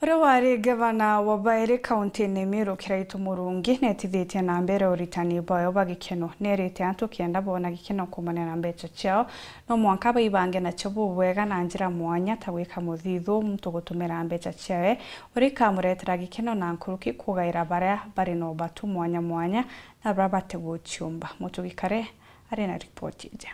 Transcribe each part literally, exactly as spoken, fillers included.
Uria wari ngavana wa bairi kaunti-ini Meru, Kiraitu Murungi, netithitie na mbere uritani bwayo bwa gikeno. Nerite antu kenda boona gikeno kuumania na mbeca ciao, no mwanka baibange nacio bubwega na njira mwanya, ta gwika muthithu, muntu gutumira mbeca ciawe uria ikamuretera gikeno, na nkuruki kugaira baria bari na ubatu mwanya mwanya na baria batiguciumba. Mutugi Kare ari na ripoti iji.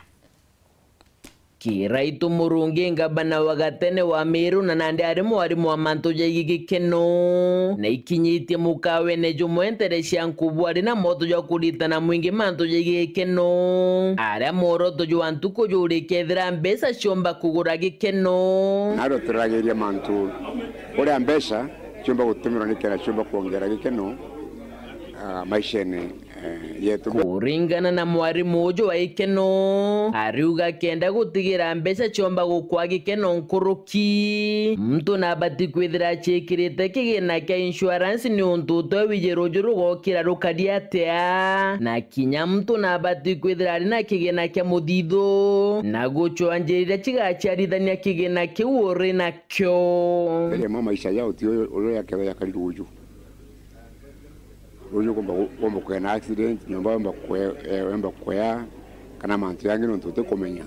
Kiraitu Murungi, ngabana wa gatene wa Meru, na nandi ari mwarimu wa mantu jaigi gikeno, na ikinyitie mukawene jumwe ntere cia nkubu, ari na mwoto jwa kuritana mwingi mantu jaigi gikeno, aria mworoto jwa ntuku juri kethira mbeca ciumba kugura gikeno. Naro turaragiria mantu uria mbeca ciumba gutumirwa nikenda ciumba kuongera gikeno, ah, maishene eh, yetu. Kuringana na mwarimu uju wa ikeno, ariuga kenda gutigira mbeca ciomba gukwa gikeno nkuruki, muntu nabati kwithira acikirite kigina kia insurance, ni untu utwe wiji ruju rugokira rukari atia, na kinya muntu nabati kwithira ari na kigina kia muthithu, na gucwanjiriria cigaciarithania kigina kiu uri nakio. Mbere mwa maisha yao ti uyu uria yakethwa yakari ruju. Ruju ukomba, ukomba kwea na accident, nyomba yomba kwe-, eh, yomba kwea, kana mantu yangi nontu utikumenya.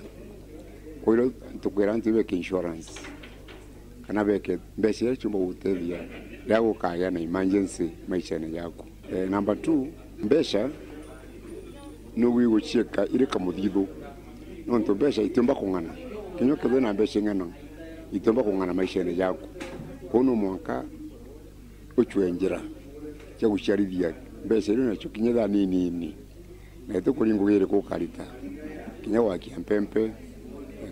Kwou tukwira antu beke insurance, kana beke mbeca iria ciumba gutethia riria gukagia na emergency maishene jaku. Eh, number two, mbeca nugwi gucieka iri kamuthithu, nontu mbeca itiumba kung'ana. Kinya ukethirwa na mbeca ing'ana, itiumba kung'ana maishene jaku. Kwou no mwanka ucwe njira cia guciarithia mbeca iria nacio kinya thaa nini, na itukuringa ngugi iriku ukarita, kinya gwakia mpempe,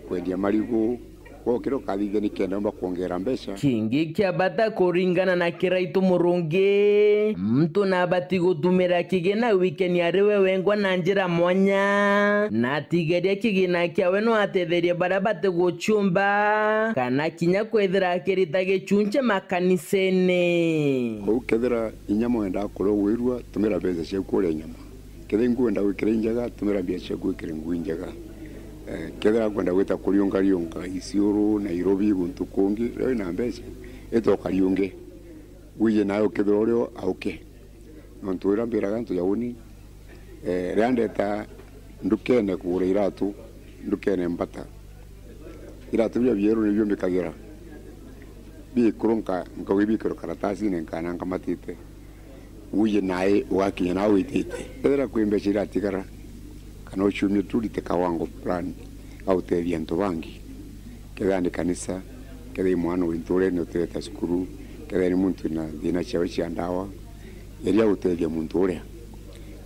kwendia marigu, gwa kira ukathithia nikenda umba kuongera mbeca. Kingi kia bata kuringana na Kiraitu Murungi, muntu nabati gutumira kigina wikeni ari we wengwa na njira mwanya, na atigeria kigina kiawe no atetherie baria bati guciumba, kana kinya kwithira akirita gicunci makanisene. Kwou kethira inya mwendaa kuria ugwirua, tumira mbeca ciaku kuria inyama. Kethira inkwenda gwikira injega, tumira mbeca ciaku wikire nguo injega. Eh, kethira kwenda gwita kuriunga riunga Isiuru, Nairobi, guntu kungi, riria wina mbeca, ita ukariunge. Wije nawe ukethira urio auke. Nontu uria mbiraga antu ja uni, eh, riria ndeta ndukene kugura iratu, ndukene mbata. Iratu biria bieru nibio mbikagira. Biikuru nka-, nkauga ibikirwe karatasine nkana nkamatite. Wije nae ugakinya nawe witite. Kethira kwi mbeca iratigara, kana uciumie tu urite kawango fulani, ga gutethia antu bangi. Kethira ni kanisa, kethira i mwana wi nturene utireta cukuru, kethira ni muntu wina thina ciawe cia ndawa, geria gutethia muntu uria.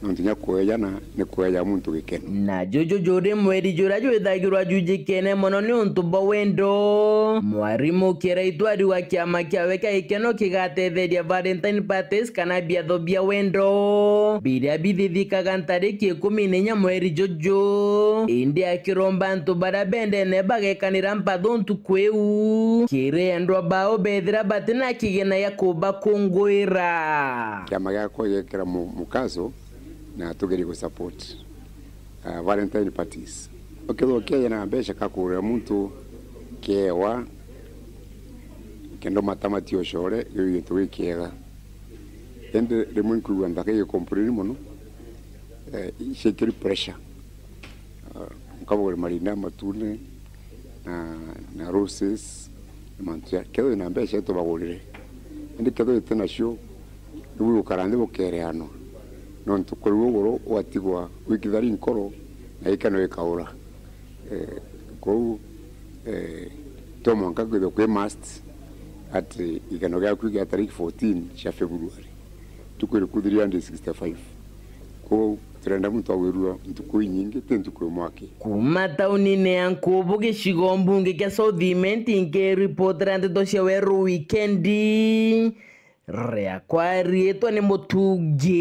Nontu kinya kwejana ni kweja muntu gikeno. Na juju juri mweri juria jwithagirwa jujikene mono ni untu bwa wendo. Mwarimu Kiraitu ariuga kiama kiawe kia gikeno kigatetheria Valentine parties kana biatho bia wendo biria bithithikaga ntariki ikumi na inya mweri juju. Indi akiromba antu baria bendene bagekanira mpatho ntuku iu kiri endwa bao bethira bati na kigina gia kubakunguira. Kiama giakwa gigekira mu-, mukaso na tugerie gu support, uh, Valentine parties. Ukethirwa ukieja na mbeca ka kugurira muntu kiewa, kenda umatamatie ucore, giu gintu gikiega. Indi rimwe nkwigua nthaka igicomplain mono, eh, ciikiri pressure. Ah, nkabagurira marinda matune na, na roses, na mantu ja, kethira wina mbeca tubagurire. Indi kethira wite nacio, nibu gukara nthi bukereanwa. Nontu kuri uguru ugatigwa wi kithari nkoro, na gikeno gikaura. Eh, kwou, eh, to mwanka kwithirwa kwi must ati gikeno giaku gia tariki fourteen cia February. Ntuku iriku three hundred sixty-five. Kwou turenda muntu agwirua ntuku inyingi, ti ntuku imwe aki. Kuuma taunine ya Nkubu, gicigo mbunge kia South Imenti, nkiripotera ndeto cia Weru Wikendi, riakwa riitwa ni Mutungi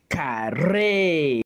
Kare.